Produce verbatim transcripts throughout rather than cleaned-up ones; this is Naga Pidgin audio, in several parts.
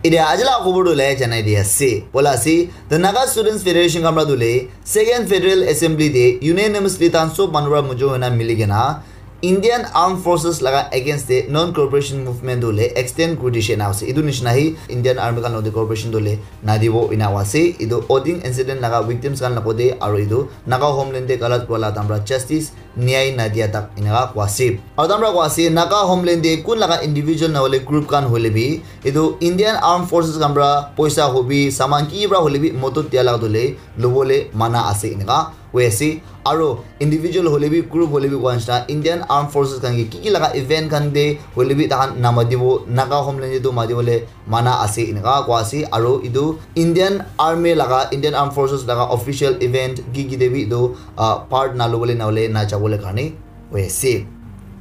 Etia aji laga khobor tu le janai di ase. Bola ase, the Naga Students Federation khan para tu le Second Federal Assembly te unanimously tan sob manu para mujo hoina mili kena Indian Armed Forces laga against te non-cooperation movement tu le extend kuri dishe na ase. Etu nishina hi Indian Army khan logote cooperation tu le nadibo ina ase. Etu Oding incident laga victims khan logote aru etu Naga homeland te galat kura la tamra justice nyai nadia tak eneka koa ase. Aru tamra koa ase, Naga homeland te kun laga individual na hoile group khan hoile bi, etu Indian Armed Forces khan para poisa hobi, saman ki para hoile bi modot dia laga tu le lobole mana ase eneka koi ase. Aru individual hoile bi, group hoile bi koa nishina Indian Armed Forces khan ke ki ki laga event khan te hoile bi tahan namadibo, Naga homeland te tu madibole mana ase eneka koa ase. Aru etu Indian Army laga, Indian Armed Forces laga official event ki ki te bi etu, ah, part na lobole na hole na jabole karne koi ase.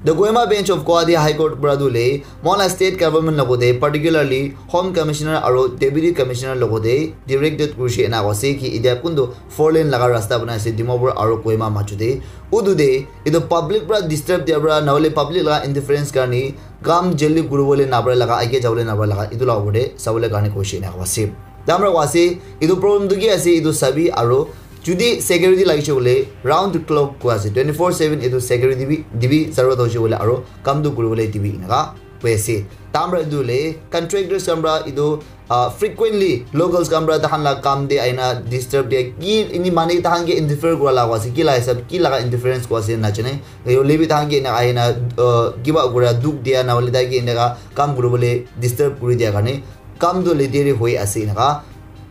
The Kohima Bench of Guwahati High Court para tu le moila state government logote, particularly Home Commissioner aru Deputy Commissioner logote directed kurishe ena koa ase ki etia kuntu four lane laga rasta banai ase Dimapur aru Kohima machu te. Utu te etu public para disturb dia para na hole public laga interference karne kam jaldi kuribole na pare laga, age jabole na pare laga, etu laga opor te sabole karne koishe ena koa ase. Tamra koa ase, etu problem tu ki ase, etu sabi aru jodi security lagise bole round the clock koa ase, twenty four seven etu security bi dibi, zarurat hoise bole aru kam tu kuribole dibi eneka koi ase. Tamra etu le contractors khan para etu, ah, frequently locals khan para tahan la kam te ahina disturb dia, ki ini mane tahan ke interfere kura laga ase, ki laga hisab, ki laga interference koa ase na jane. Hoile bi tahan ke ena ahina, ah, kiba kura dukh dia na hole tai ke eneka kam kuribole disturb kuri dia karne kam tu le deri hoi ase eneka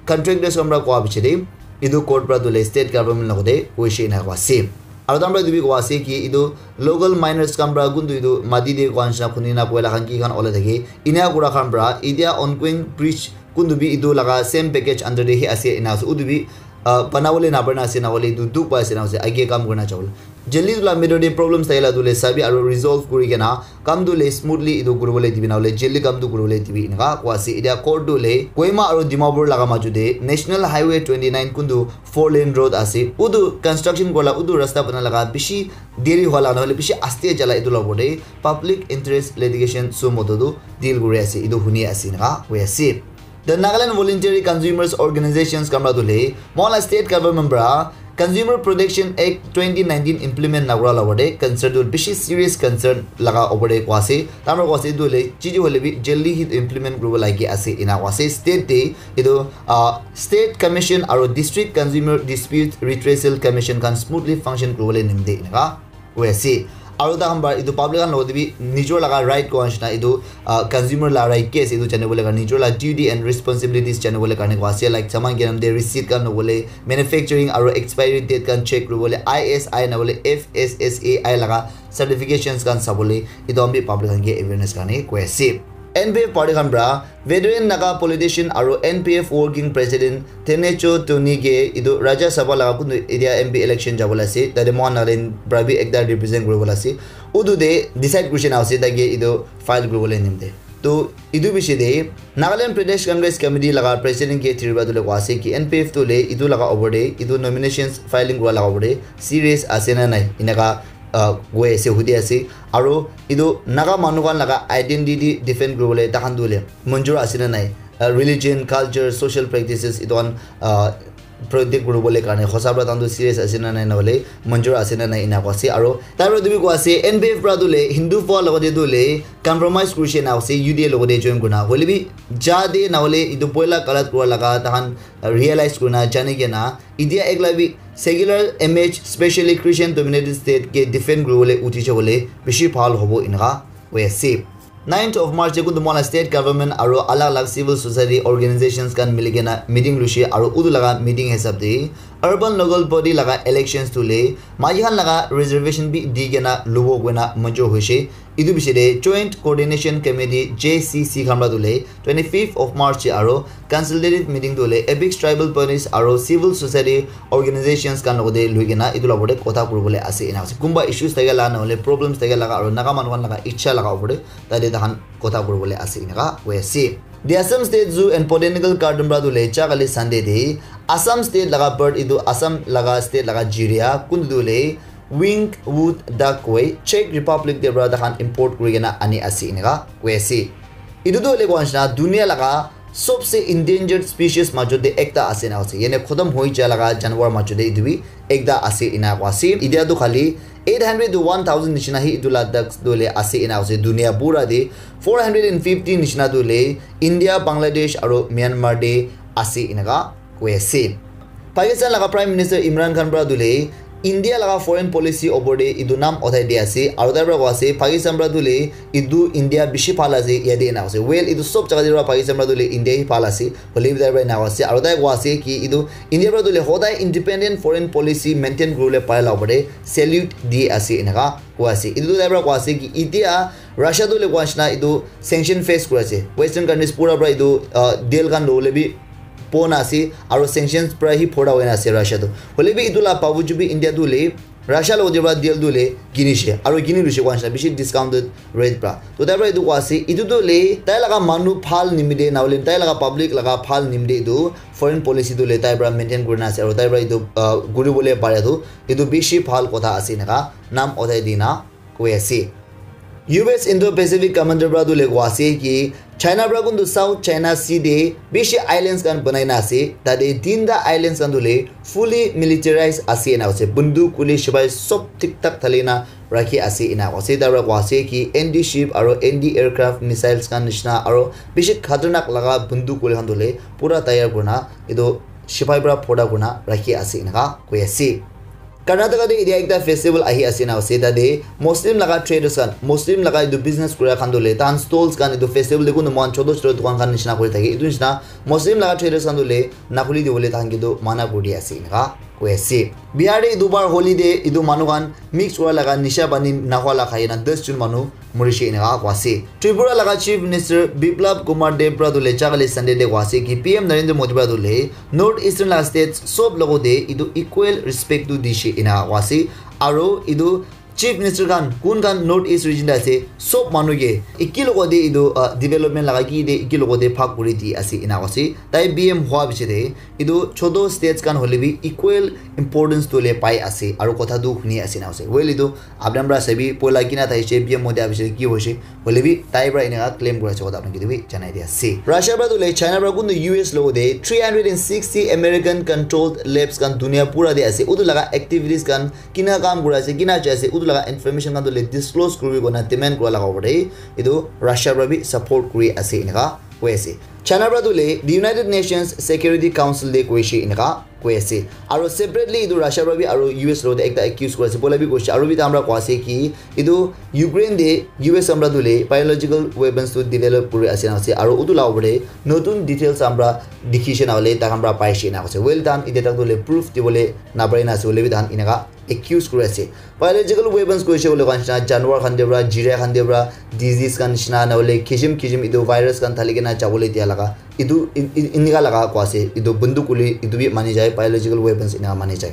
contractors khan para koa piche te etu court para tu le state government logote koishe ena koa ase. Aru tamra etu bi koa ase ki etu local miners khan para kuntu etu mati te koa nishina khuni na koila khan ki khan olai thake, ena kura khan para etia ongoing bridge kuntu bi etu laga same package under te hi ase ena ase. Utu bi, ah, banabole na pare na ase, na hole etu dukh pai ase na ase, age kam kurina jabole. Jaldi tu la middle te problems thakila tu le sabi aru resolve kuri kena kam tu le smoothly etu kuribole dibi na hole jaldi kam tu kuribole dibi eneka koa ase. Etia court tu le Kohima aru Dimapur laga machu te National Highway twenty nine kuntu four lane road ase, utu construction kura la, utu rasta bana laga bishi deri hua la na hole bishi aste jala etu la opor te public interest litigation suo motu tu deal kuri ase, etu huni ase eneka koi ase. The Nagaland Voluntary Consumers Organizations khan para tu le moila state government para Consumer Protection Act twenty nineteen implement na kura la opor te concern tu bishi serious concern laga opor te koa ase. Tamra koa ase etu le chiji hole bi jaldi hi implement kuribo lagi ase ena koa ase. State te etu, ah, State Commission aru District Consumer Dispute Redressal Commission khan smoothly function kuribole nimite eneka koi ase. Aru tahan para etu public khan logote bi nijor laga right koa nishina etu, ah, consumer la right ki ase etu janibole karne, nijor la duty and responsibilities janibole karne koa ase, like saman kinam te receipt khan lobole, manufacturing aru expiry date khan check kuribole, I S I na hole F S S A I laga certifications khan sabole, etu khan bi public khan ke awareness karne koi ase. N P F party khan para veteran Naga politician aru N P F working president Tenecho Tony ke etu Rajya Sabha laga kuntu etia M P election jabole ase, tate mohan Nagaland para bi ekta represent kuribole ase. Utu te decide kurishe na ase tai ke etu file kuribole nimite. To etu bishi te Nagaland Pradesh Congress Committee laga president ke thiri para tu le koa ase ki N P F tu le etu laga opor te, etu nominations filing kura laga opor te serious ase na nai eneka, ah, koi ase, hudi ase. Aru etu Naga manu khan laga identity defend kuribole tahan tu le manjur ase na nai, ah, religion, culture, social practices etu khan, ah, protect kuribole karne hosa para tahan tu serious ase na nai, na hole manjur ase na nai ena koa ase. Aru tai para tu bi koa ase N P F para tu le Hindu fua logote tu le compromise kurishe na ase, U D A logote join kurina, hole bi ja de na hole etu poila galat kura laga tahan realize kurina jani kena etia ekla bi secular image, specially Christian dominated state ke defend kuribole uthi jabole bishi bhal hobo eneka koi ase. Ninth of March te kuntu moila state government aru alag alag civil society organizations khan mili kena meeting luishe aru utu laga meeting hisab te urban local body laga elections tu le maiki khan laga reservation bi di kena lubo koina manjur hoishe. Etu bishi te Joint Coordination Committee, J C C, khan para tu le twenty fifth of March te aru consultative meeting tu le apex tribal bodies aru civil society organizations khan logote lui kena etu la opor te kotha kuribole ase ena ase. Kunba issues thake la na hole problems thake laga aru Naga manu khan laga ichha laga opor te tate tahan kotha kuribole ase eneka koi ase. The Assam State Zoo and Botanical Garden para tu le ja kali Sunday te Assam state laga bird etu Assam laga state laga jiria kuntu tu le winged wood duck koi Czech Republic te para tahan import kuri kena ani ase eneka koi ase. Etu tu hoile koa nishina dunia laga sobse endangered species majo te ekta ase ena ase. Yene khotom hoi ja laga janwar majo te etu bi ekta ase ena ko ase. Itia tu khali eight hundred to one thousand nishina hi etu Ladakh tu le ase ena ase. Dunia pura te four hundred and fifty nishina tu le India, Bangladesh aru Myanmar te ase enaka koi ase. Pakistan laga Prime Minister Imran Khan para tu le India laga foreign policy opor te etu nam uthai di ase aru tai para koi ase Pakistan para tu le etu India bishi bhal ase yate ena ase. Well, etu sob jaga te para Pakistan para tu le India hi bhal ase, hoile bi tai para ena ase aru tai koi ase ki etu India para tu le hodai independent foreign policy maintain kuribole pare la opor te salute di ase enaka koi ase. Etu tu tai para koi ase ki itia Russia tu le koi nishina etu sanction face kuri ase. Western countries pura para etu uh, deal khan lobole bi pon ase aru sanctions para hi phora hoina ase Russia tu. Hoile bi etu la babuju bi India tu le Russia lo de para deal tu le kinishe aru kini lushe koi nishina bishi discounted rate para. To tai para etu koi ase etu tu le tai laga manu bhal nimite na hoile tai laga public laga bhal nimite etu foreign policy tu le tai para maintain kurina ase aru tai para etu uh, kuribole pare tu etu bishi bhal kotha ase enaka nam uthai dina koi ase. U S Indo-Pacific Commander para tu le koi ase ki China para kuntu South China Sea te bishi islands khan banai na ase. Tate tinta islands khan tu le fully militarized ase ena ase. Bunduk kuli shipai sob thik thak thali na rakhi ase ena ase. Tai para koi ase ki anti ship aru anti aircraft missiles khan nishina aru bishi khatarnak laga bunduk kuli khan tu le pura tayar kurina etu shipai para phota kurina rakhi ase enaka koi ase. Karnataka te etia ekta festival ahi ase na ase tate Muslim laga traders khan Muslim laga etu business kura khan tu le tahan stalls khan etu festival te kuntu mohan choto choto dukan khan nishina kuri thake etu nishina Muslim laga traders khan tu le nakhuli dibole tahan ke tu mana kuri di ase enaka koi ase. Bihar te etu bar holi te etu manu khan mix kura laga nisha pani nahwa la khai na das jon manu morishe enaka koi ase. Tripura laga Chief Minister Biplab Kumar Deb para tu le jagale Sunday te koi ase ki P M Narendra Modi para tu le North Eastern laga states sob logote etu equal respect tu dishe enaka koi ase. Aru etu Chief Minister khan kun khan North East region te ase sob manu ke eki logote etu uh, development laga ki te eki logote bhag kuri di ase enaka koi ase. Tai P M hua piche te etu choto states khan hoile bi equal importance tu le pai ase aru kotha tu huni ase enaka ase. Well, etu apni khan para sabi poila kina thakishe P M Modi abishi ki hoishe hoile bi tai para enaka claim kuri ase kotha apni khan ke bi janai di ase. Russia para tu le China para kuntu U S logote three hundred and sixty American controlled labs khan dunia pura te ase. Utu laga activities khan kina kam kuri ase kina jai ase utu laga information khan tu le disclose kuri kona demand kura laga opor te etu Russia para bi support kuri ase enaka koi ase. China para tu le the United Nations Security Council te koishe enaka koi ase. Aru separately etu Russia para bi aru U S logote ekta accuse kuri ase. Poila bi koishe aru bi tahan para koi ase ki etu Ukraine te U S amra tu le biological weapons tu develop kuri ase na ase. Aru utu la opor te notun details amra dikhi she na hoile tahan para pai she na ase. Well, tahan etia tak tu le proof dibole na pare na ase. Hoile bi tahan enaka accuse kuri ase. Biological weapons koishe koile koi nishina janwar khan te para, jira khan te para, disease khan nishina na hoile kisim kisim etu virus khan thali kena jabole dia laga etu in- in- inika laga koi ase. Etu bunduk kuli etu bi mani jai, biological weapons inika mani jai.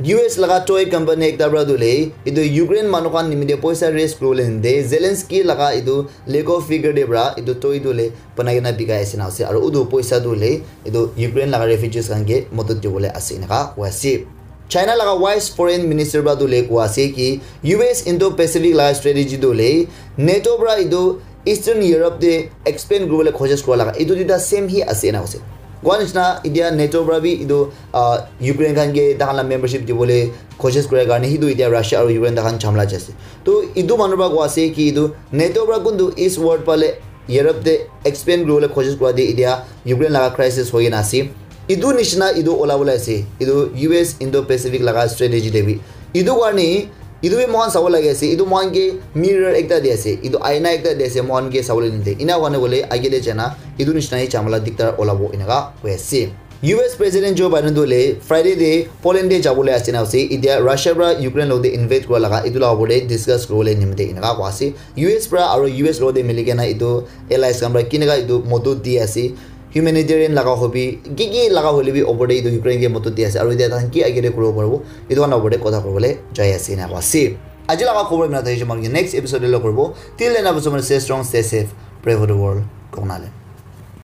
U S laga toy company ekta para tu le etu Ukraine manu khan nimite poisa raise kuribole nimite Zelensky laga etu Lego figure te para etu toy tu le banai kena bikai ase na ase. Aru utu poisa tu le etu Ukraine laga refugees khan ke madad dibole ase eneka koi ase. China laga vice foreign minister para tu le koi ase ki U S Indo-Pacific laga strategy tu le NATO para etu Eastern Europe te expand kuribole koshish kura laga etu duita same hi ase ena koi ase. Koi nishina etia NATO para bi etu ah, Ukraine khan ke tahan la membership dibole koshish kura karne hitu etia Russia aru Ukraine tahan jhamla jai ase. To etu manu para koi ase ki etu NATO para kuntu eastward phale Europe te expand kuribole koshish kura te etia Ukraine laga crisis hoi kena ase. Etu nishina etu ola bole ase. Etu U S Indo-Pacific laga strategy te bi. Etu karne etu bi moikhan sabo lagi ase. Etu moikhan ke mirror ekta di ase. Etu aina ekta di ase. Moikhan ke sabo le nide. Ena hoine koile age te jana etu nishina hi jhamla diktar olabo eneka koi ase. U S President Joe Biden tu le Friday te Poland te jabole ase na ase. Etia Russia para Ukraine logote invade kura laga etu la opor te discuss kuribole nimite eneka koi ase. U S para aru U S logote mili kena etu allies khan para keneka etu modot di ase. Humanitarian laga hobi, ki ki laga hoile bi opor te etu Ukraine ke modot di ase. Aru etia tahan ki age te kuribo paribo, etu khan opor te kotha kuribole jai ase eneka koi ase. Aji laga khobor imna thakishe, next episode te log kuribo. Till then, stay strong, stay safe, pray for the world. Kongna le.